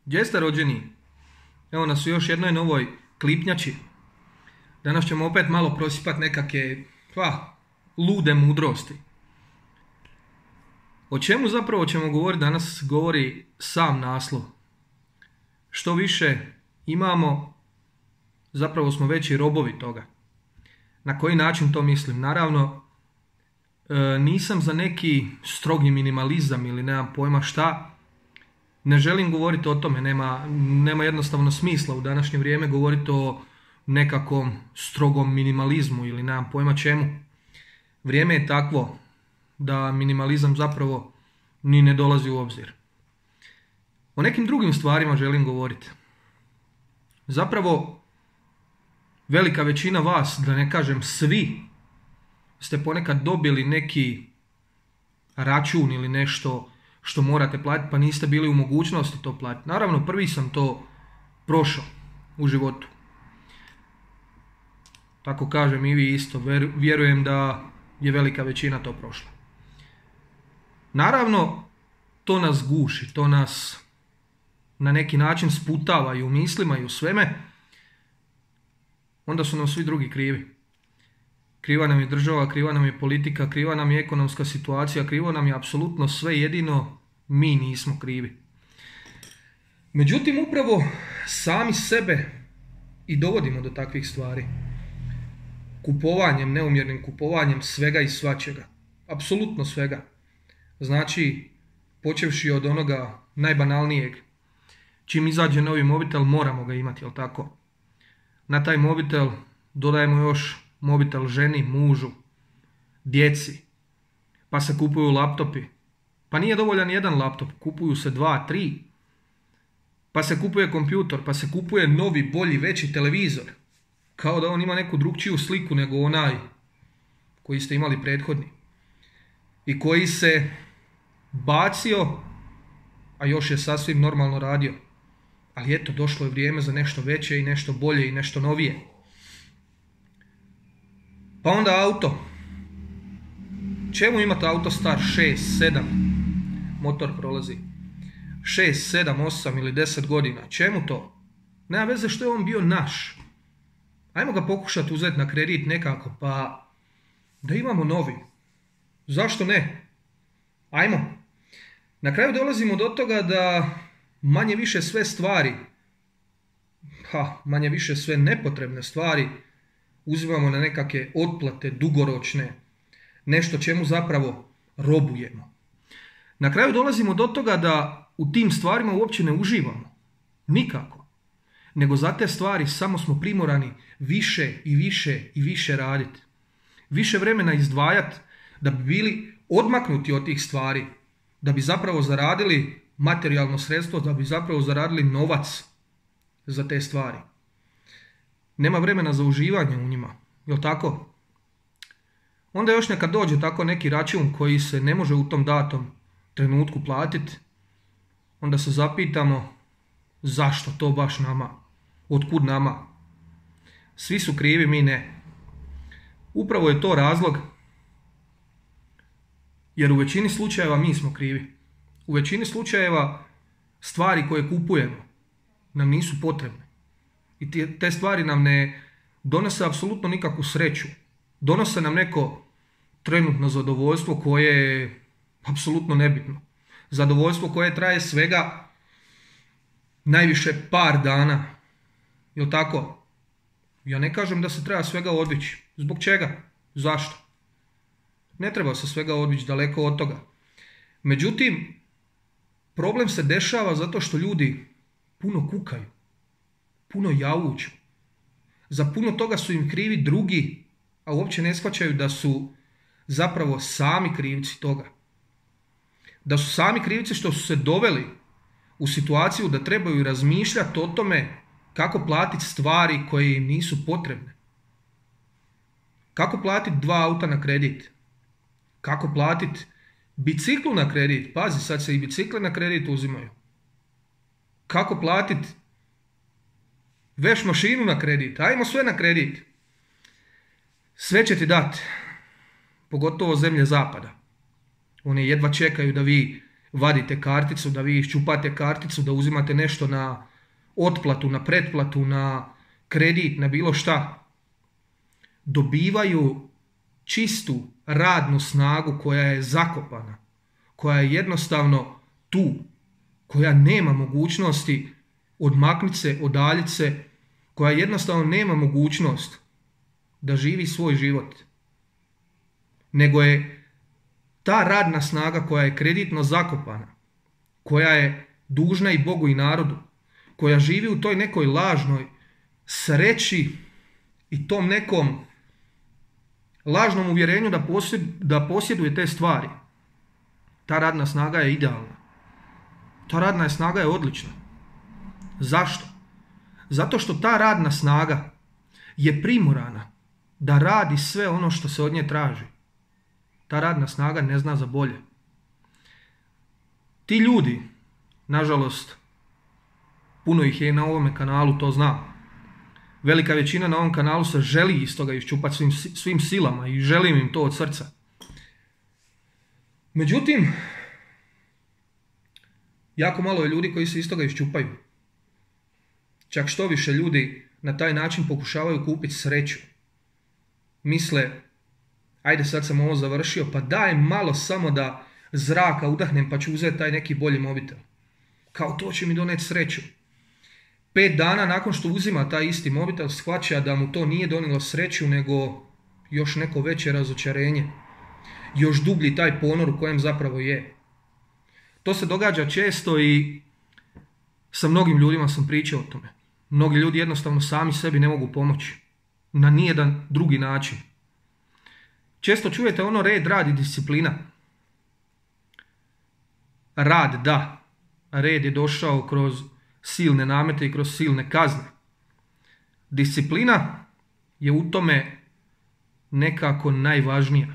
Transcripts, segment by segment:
Gdje ste rođeni? Evo nas u još jednoj novoj klipnjači. Danas ćemo opet malo prosipati nekakve lude mudrosti. O čemu zapravo ćemo govoriti danas govori sam naslov. Što više imamo, zapravo smo veći robovi toga. Na koji način to mislim? Naravno, nisam za neki strogi minimalizam ili nemam pojma šta. Ne želim govoriti o tome, nema jednostavno smisla u današnje vrijeme govoriti o nekakvom strogom minimalizmu ili nemam pojma čemu. Vrijeme je takvo da minimalizam zapravo ni ne dolazi u obzir. O nekim drugim stvarima želim govoriti. Zapravo, velika većina vas, da ne kažem svi, ste ponekad dobili neki račun ili nešto što morate platiti pa niste bili u mogućnosti to platiti. Naravno, prvi sam to prošao u životu. Tako kažem i vi isto. Vjerujem da je velika većina to prošla. Naravno, to nas guši, to nas na neki način sputava i u mislima i u sveme. Onda su nam svi drugi krivi. Kriva nam je država, kriva nam je politika, kriva nam je ekonomska situacija, krivo nam je apsolutno sve, jedino mi nismo krivi. Međutim, upravo sami sebe i dovodimo do takvih stvari. Kupovanjem, neumjernim kupovanjem svega i svačega. Apsolutno svega. Znači, počevši od onoga najbanalnijeg. Čim izađe novi mobitel, moramo ga imati, jel tako? Na taj mobitel dodajemo još mobitel ženi, mužu, djeci. Pa se kupuju laptopi. Pa nije dovoljan jedan laptop, kupuju se 2, 3. Pa se kupuje kompjutor, pa se kupuje novi, bolji, veći televizor. Kao da on ima neku drugčiju sliku nego onaj koji ste imali prethodni. I koji se bacio, a još je sasvim normalno radio. Ali eto, došlo je vrijeme za nešto veće i nešto bolje i nešto novije. Pa onda auto. Čemu imate auto star 6, 7, motor prolazi 6, 7, 8 ili 10 godina? Čemu to? Nema veze što je on bio naš. Ajmo ga pokušati uzeti na kredit nekako, pa da imamo novi. Zašto ne? Ajmo. Na kraju dolazimo do toga da manje više sve stvari, manje više sve nepotrebne stvari uzimamo na nekakve otplate dugoročne, nešto čemu zapravo robujemo. Na kraju dolazimo do toga da u tim stvarima uopće ne uživamo. Nikako. Nego za te stvari samo smo primorani više i više i više raditi. Više vremena izdvajati da bi bili odmaknuti od tih stvari, da bi zapravo zaradili materijalno sredstvo, da bi zapravo zaradili novac za te stvari. Nema vremena za uživanje u njima, jel tako? Onda još neka dođe tako neki račun koji se ne može u tom datom trenutku platiti, onda se zapitamo zašto to baš nama, otkud nama? Svi su krivi, mi ne. Upravo je to razlog, jer u većini slučajeva mi smo krivi. U većini slučajeva stvari koje kupujemo nam nisu potrebne. I te stvari nam ne donose apsolutno nikakvu sreću. Donose nam neko trenutno zadovoljstvo koje je apsolutno nebitno. Zadovoljstvo koje traje svega najviše par dana. Jel tako? Ja ne kažem da se treba svega odvići. Zbog čega? Zašto? Ne treba se svega odvići, daleko od toga. Međutim, problem se dešava zato što ljudi puno kukaju, puno jauču. Za puno toga su im krivi drugi, a uopće ne shvaćaju da su zapravo sami krivci toga. Da su sami krivci što su se doveli u situaciju da trebaju razmišljati o tome kako platiti stvari koje im nisu potrebne. Kako platiti 2 auta na kredit? Kako platiti biciklu na kredit? Pazi, sad se i bicikle na kredit uzimaju. Kako platiti veš mašinu na kredit? Ajmo sve na kredit. Sve će ti dati, pogotovo zemlje zapada. One jedva čekaju da vi vadite karticu, da vi iščupate karticu, da uzimate nešto na otplatu, na pretplatu, na kredit, na bilo šta. Dobivaju čistu radnu snagu koja je zakopana, koja je jednostavno tu, koja nema mogućnosti odmakniti se, odaljiti se, koja jednostavno nema mogućnost da živi svoj život. Nego je ta radna snaga koja je kreditno zakopana, koja je dužna i Bogu i narodu, koja živi u toj nekoj lažnoj sreći i tom nekom lažnom uvjerenju da posjeduje te stvari. Ta radna snaga je idealna. Ta radna snaga je odlična. Zašto? Zato što ta radna snaga je primorana da radi sve ono što se od nje traži. Ta radna snaga ne zna za bolje. Ti ljudi, nažalost, puno ih je na ovome kanalu, to znam. Velika većina na ovom kanalu se želi iz toga iščupati svim silama i želim im to od srca. Međutim, jako malo je ljudi koji se iz toga iščupaju. Čak što više ljudi na taj način pokušavaju kupiti sreću. Misle, ajde sad sam ovo završio, pa daj malo samo da zraka udahnem pa ću uzeti taj neki bolji mobitel. Kao to će mi doneti sreću. 5 dana nakon što uzima taj isti mobitel shvaća da mu to nije donijelo sreću nego još neko veće razočarenje. Još dublji taj ponor u kojem zapravo je. To se događa često i sa mnogim ljudima sam pričao o tome. Mnogi ljudi jednostavno sami sebi ne mogu pomoći. Na nijedan drugi način. Često čujete ono red, rad i disciplina. Rad, da. Red je došao kroz silne namete i kroz silne kazne. Disciplina je u tome nekako najvažnija.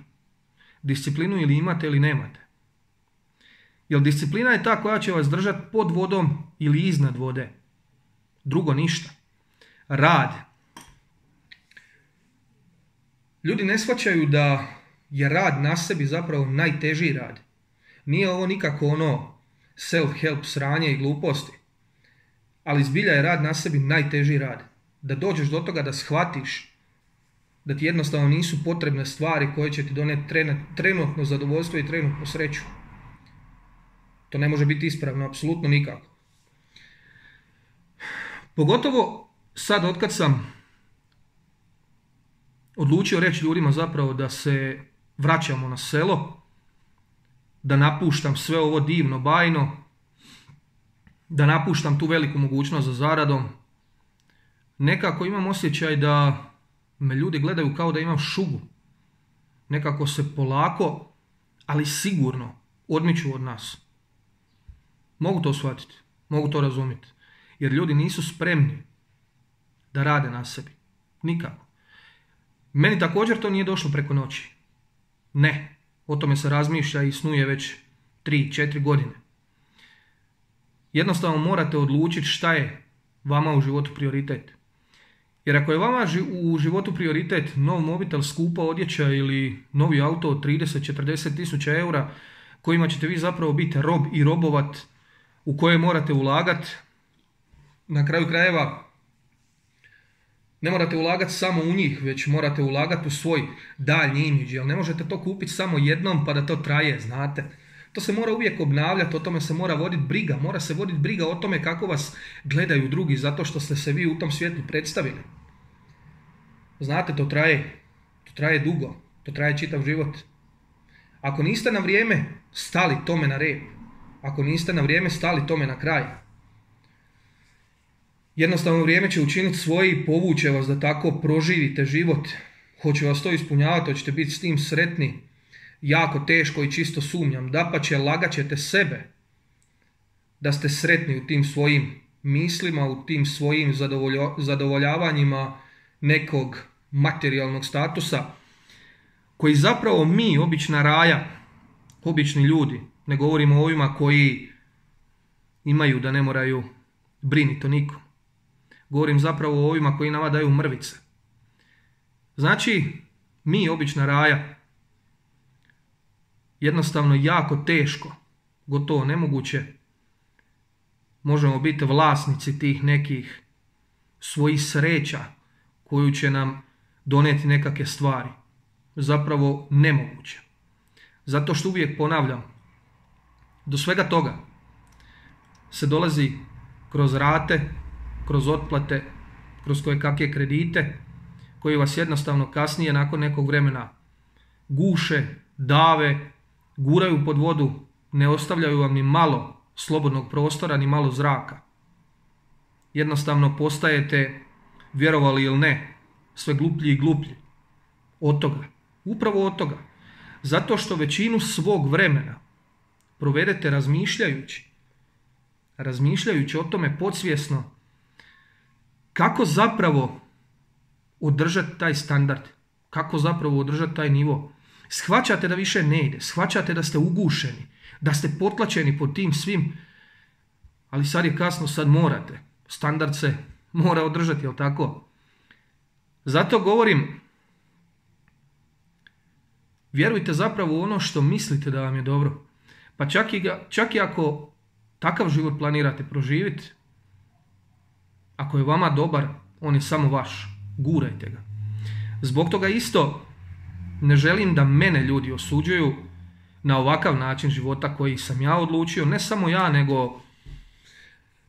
Disciplinu ili imate ili nemate. Jer disciplina je ta koja će vas držati pod vodom ili iznad vode. Drugo ništa. Rad. Ljudi ne shvaćaju da je rad na sebi zapravo najteži rad. Nije ovo nikako ono self-help sranje i gluposti. Ali zbilja je rad na sebi najteži rad. Da dođeš do toga da shvatiš da ti jednostavno nisu potrebne stvari koje će ti doneti trenutno zadovoljstvo i trenutnu sreću. To ne može biti ispravno, apsolutno nikako. Pogotovo sad otkad sam odlučio reći ljudima zapravo da se vraćamo na selo, da napuštam sve ovo divno, bajno, da napuštam tu veliku mogućnost za zaradom. Nekako imam osjećaj da me ljudi gledaju kao da imam šugu. Nekako se polako, ali sigurno odmiču od nas. Mogu to shvatiti, mogu to razumjeti. Jer ljudi nisu spremni da rade na sebi. Nikako. Meni također to nije došlo preko noći. Ne. O tome se razmišlja i snuje već 3-4 godine. Jednostavno morate odlučiti šta je vama u životu prioritet. Jer ako je vama u životu prioritet nov mobitel, skupa odjeća ili novi auto od 30-40 tisuća eura kojima ćete vi zapravo biti rob i robovat, u koje morate ulagati, na kraju krajeva ne morate ulagati samo u njih, već morate ulagati u svoj daljnji imidž, jer ne možete to kupiti samo jednom pa da to traje, znate. To se mora uvijek obnavljati, o tome se mora voditi briga. Mora se voditi briga o tome kako vas gledaju drugi, zato što ste se vi u tom svijetu predstavili. Znate, to traje dugo, to traje čitav život. Ako niste na vrijeme stali tome na rep, ako niste na vrijeme stali tome na kraj, jednostavno vrijeme će učiniti svoje i povuće vas da tako proživite život. Hoće vas to ispunjavati, hoćete biti s tim sretni. Jako teško i čisto sumnjam. Dapače, lagat ćete sebe da ste sretni u tim svojim mislima, u tim svojim zadovoljavanjima nekog materijalnog statusa, koji zapravo mi, obična raja, obični ljudi, ne govorimo o ovima koji imaju da ne moraju briniti o nikom. Govorim zapravo o ovima koji nama daju mrvice. Znači, mi, obična raja, jednostavno jako teško gotovo nemoguće. Možemo biti vlasnici tih nekih svojih sreća koju će nam donijeti nekakve stvari. Zapravo nemoguće. Zato što uvijek ponavljam, do svega toga se dolazi kroz rate, kroz otplate, kroz koje kakve kredite, koji vas jednostavno kasnije nakon nekog vremena guše, dave, guraju pod vodu, ne ostavljaju vam ni malo slobodnog prostora, ni malo zraka. Jednostavno postajete, vjerovali ili ne, sve gluplji i gluplji. Od toga. Upravo od toga. Zato što većinu svog vremena provedete razmišljajući o tome podsvjesno kako zapravo održati taj standard, kako zapravo održati taj nivo. Shvaćate da više ne ide, shvaćate da ste ugušeni, da ste potlačeni pod tim svim, ali sad je kasno, sad morate. Standard se mora održati, jel tako? Zato govorim, vjerujte zapravo u ono što mislite da vam je dobro. Pa čak i ako takav život planirate proživjeti, ako je vama dobar, on je samo vaš. Gurajte ga. Zbog toga isto ne želim da mene ljudi osuđuju na ovakav način života koji sam ja odlučio. Ne samo ja, nego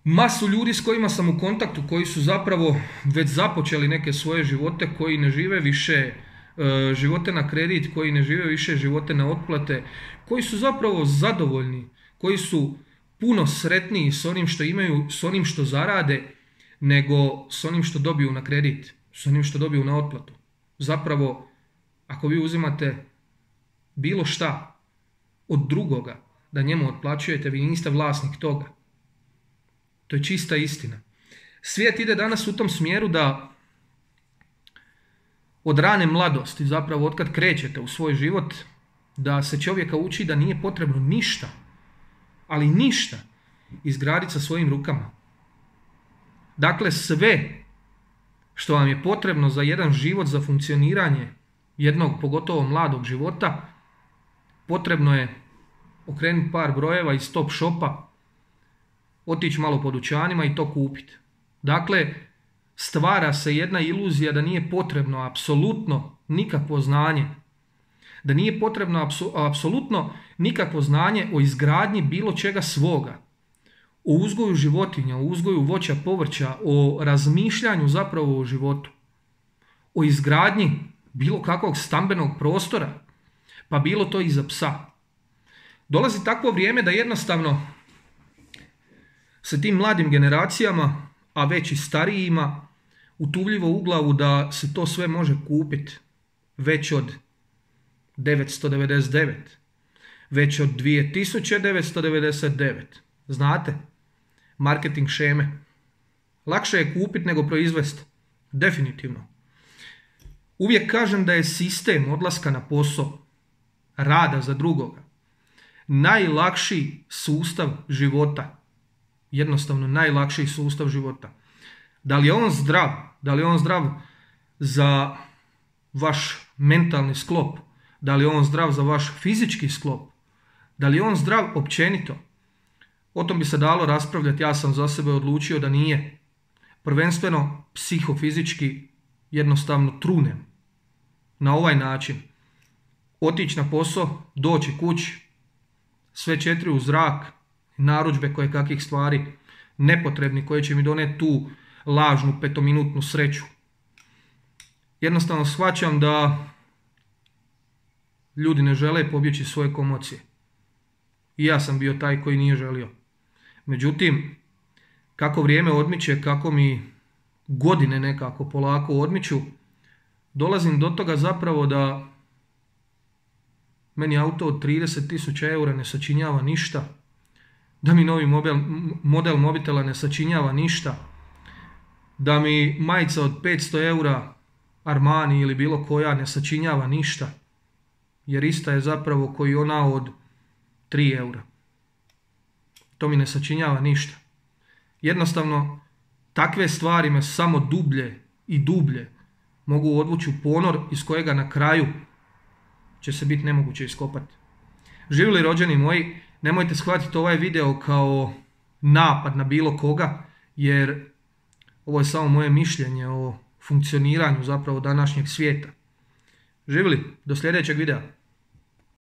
masu ljudi s kojima sam u kontaktu, koji su zapravo već započeli neke svoje živote, koji ne žive više živote na kredit, koji ne žive više živote na otplate, koji su zapravo zadovoljni, koji su puno sretniji s onim što imaju, s onim što zarade, nego s onim što dobiju na kredit, s onim što dobiju na otplatu. Zapravo, ako vi uzimate bilo šta od drugoga da njemu otplaćujete, vi niste vlasnik toga. To je čista istina. Svijet ide danas u tom smjeru da od rane mladosti, zapravo otkad krećete u svoj život, da se čovjeka uči da nije potrebno ništa, ali ništa, izgraditi sa svojim rukama. Dakle, sve što vam je potrebno za jedan život, za funkcioniranje jednog, pogotovo mladog života, potrebno je okrenuti par brojeva iz top shopa, otići malo po dućanima i to kupiti. Dakle, stvara se jedna iluzija da nije potrebno apsolutno nikakvo znanje. Da nije potrebno apsolutno nikakvo znanje o izgradnji bilo čega svoga. O uzgoju životinja, o uzgoju voća, povrća, o razmišljanju zapravo o životu. O izgradnji bilo kakvog stambenog prostora, pa bilo to i za psa. Dolazi takvo vrijeme da jednostavno se tim mladim generacijama, a već i starijima, utuvljivo u glavu da se to sve može kupiti već od 999, već od 2999. Znate, marketing šeme. Lakše je kupiti nego proizvesti. Definitivno. Uvijek kažem da je sistem odlaska na posao, rada za drugoga, najlakši sustav života. Jednostavno najlakši sustav života. Da li je on zdrav? Da li je on zdrav za vaš mentalni sklop? Da li je on zdrav za vaš fizički sklop? Da li je on zdrav općenito? O tom bi se dalo raspravljati, ja sam za sebe odlučio da nije. Prvenstveno psihofizički jednostavno trunem. Na ovaj način. Otići na posao, doći kući, sve 4 u zrak, narudžbe koje kakvih stvari nepotrebni koje će mi doneti tu lažnu 5-minutnu sreću. Jednostavno shvaćam da ljudi ne žele pobjeći svoje komocije. I ja sam bio taj koji nije želio. Međutim, kako vrijeme odmiče, kako mi godine nekako polako odmiču, dolazim do toga zapravo da meni auto od 30.000 eura ne sačinjava ništa, da mi novi model mobitela ne sačinjava ništa, da mi majica od 500 eura Armani ili bilo koja ne sačinjava ništa, jer ista je zapravo koji ona od 3 eura. To mi ne sačinjava ništa. Jednostavno, takve stvari me samo dublje i dublje mogu odvući u ponor iz kojega na kraju će se biti nemoguće iskopati. Živjeli rođeni moji, Nemojte shvatiti ovaj video kao napad na bilo koga, jer ovo je samo moje mišljenje o funkcioniranju zapravo današnjeg svijeta. Živjeli, do sljedećeg videa.